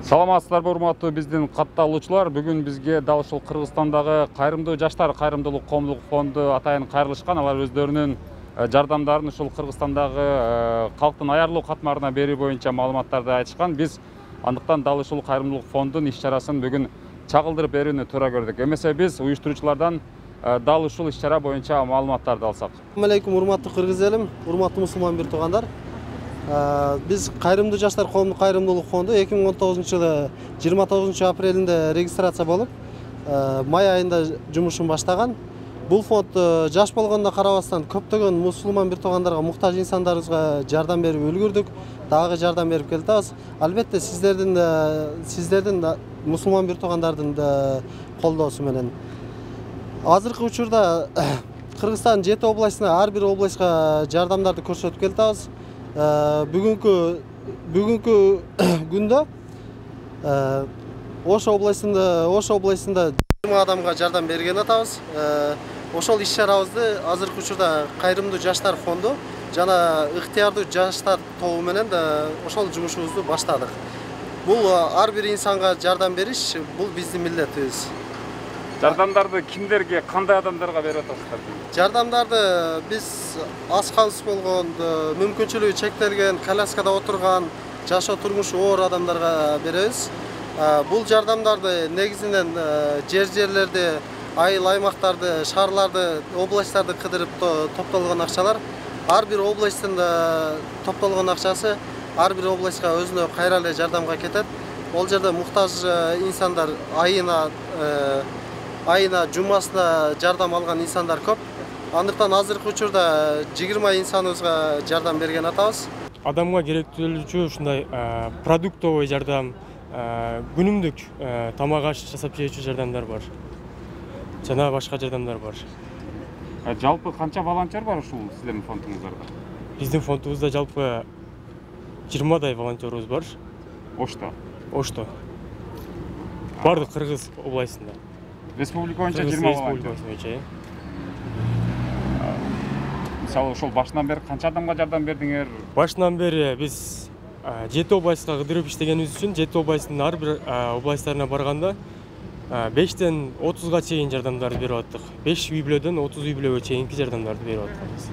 Саламатсыздарбы, урматтуу биздин катталуучулар. Бүгүн бизге дал ушул Кыргызстандагы Кайрымдуу жаштар кайрымдуулук коомдук фонду атайын кайрылышкан. Алар өздөрүнүн жардамдарын ушул Кыргызстандагы калктын аярлуу катмарына берүү боюнча маалыматтарды айтышкан. Биз андыктан дал ушул Кайрымдуулук фондунун иш-чарасын бүгүн чагылдырып берүүнү туура көрдүк. Эмесе биз уюштуруучулардан дал ушул иш-чара боюнча маалыматтарды алсак. Assalamu alaykum, урматтуу кыргыз элим, урматтуу мусулман бир туугандар. Biz Кайрымдуу жаштар коомдук кайрымдуулук фонду 2019-жылы 29 апрелинде регистрация болуп, май айында жумушун баштаган. Бул фонд жаш болгонуна карабастан көптөгөн мусулман бир туугандарга, муктаж инсандарыбызга жардам берип үлгүрдүк, дагы жардам берип келатабыз. Албетте сиздердин мусулман бир туугандардын колдоосу менен. Азыркы учурда Кыргызстандын 7 областына, ар бир областка жардамдарды көрсөтүп келатабыз. Бүгүнкү күндө Ош областында 20 адамга жардам берген атабыз. Ошол иш-чарабызды азыркы учурда Кайрымдуу жаштар фонду жана ыктыярдуу жаштар тобу менен ошол жумушубузду баштадык. Бул ар бир инсанга жардам бериш, бул биздин милдетибиз. Жардамдарды кимдерге, кандай адамдарга берип атасыздар? Жардамдарды биз аз камсыз болгон, мүмкүнчүлүгү чектелген, коляскада отурган, жашоо турмушу оор адамдарга беребиз. Бул жардамдарды негизинен жерлерди, айыл аймактарды, шаарларды, областтарды кыдырып топтолгон акчалар. Ар бир областтын топтолгон акчасы ар бир областка өзүнө кайра эле жардамга кетет. Ол жерде муктаж инсандар айына жумасына жардам алган инсандар көп. Андыктан азыркы учурда 20 инсаныбызга жардам берген атабыз. Адамга керектүүлүүчү ушундай продуктовый жардам, күнүмдүк тамак аш жасап жөөчү жардамдар бар. Жана башка жардамдар бар. Жалпы канча волонтер бар ушул сиздердин фондуңуздарда? Биздин фондубузда жалпы 20дай волонтерубуз бар. Ошто. Бардык Кыргыз областында. Республика боюнча 20 волонтер. Мисалы ошол башынан бери канча адамга жардам бердиңер? Башынан бери биз 7 областка кыдырып иштегенибиз үчүн 7 областтын ар бир областтарына барганда 5-тен 30га чейин жардамдарды берип аттык. 5 үй бүлөдөн 30 үй бүлөгө чейинки жардамдарды берип атканбыз.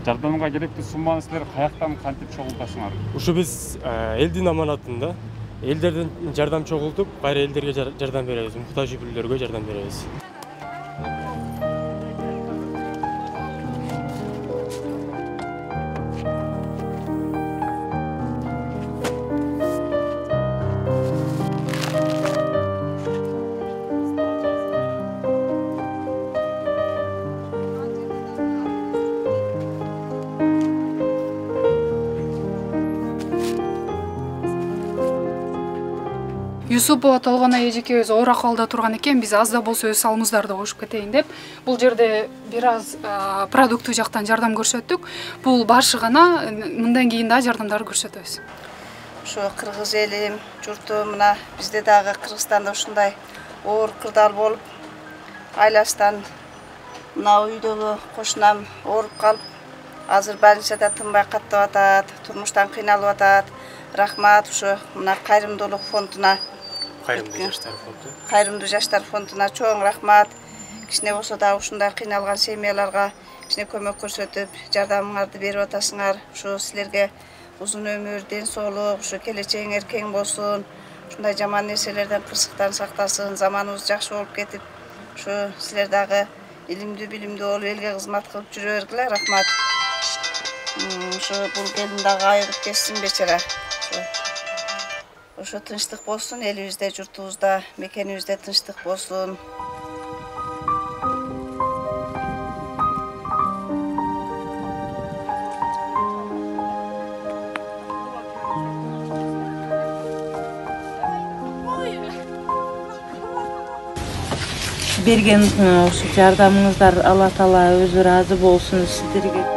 Жардамга керектүү сумманы силер каяктан кантип чогултасыңар? Ушу биз элдин аманатында элдерден жардам чогултуп, кайра элдерге жардам беребиз, муктаж үй бүлөлөргө жардам беребиз. Юсупова Толгона эжекебиз оор акыбалда турган экен, биз аз да болсо өз салымыбыздарды кошуп кетейин деп, бул жерде бир аз продукттуу жактан жардам көрсөттүк. Бул башы гана, мындан кийин да жардамдарды көрсөтөбүз. Ошо кыргыз элим, журтум, мына бизде дагы Кыргызстанда ушундай оор кырдаал болуп, айласынан мына үйдөгү кошунам ооруп калып, азыр больницада тынбай каттап атат, турмуштан кыйналып атат. Рахмат ошо мына Кайрымдуулук фондуна, Кайрымдуу жаштар фондуна чоң рахмат. Кичине болсо да ушундай кыйналган семьяларга кичине көмөк көрсөтүп, жардамыңарды берип атасыңар. Ушу силерге узун өмүр, ден соолук, ушу келечегиңер кең болсун. Ушундай жаман нерселерден, кырсыктан сактасын, заманыбыз жакшы болуп кетип, ушу силер дагы илимдүү, билимдүү болуп, элге кызмат кылып жүрө бергиле. Рахмат. Ушу бул келин дагы айыгып кетсин бечара. Ошо тынчтык болсун, элибизде, журтубузда, мекенибизде тынчтык болсун. Берген ошо жардамыңыздар Алла Таала өзү ыраазы болсун сиздерге.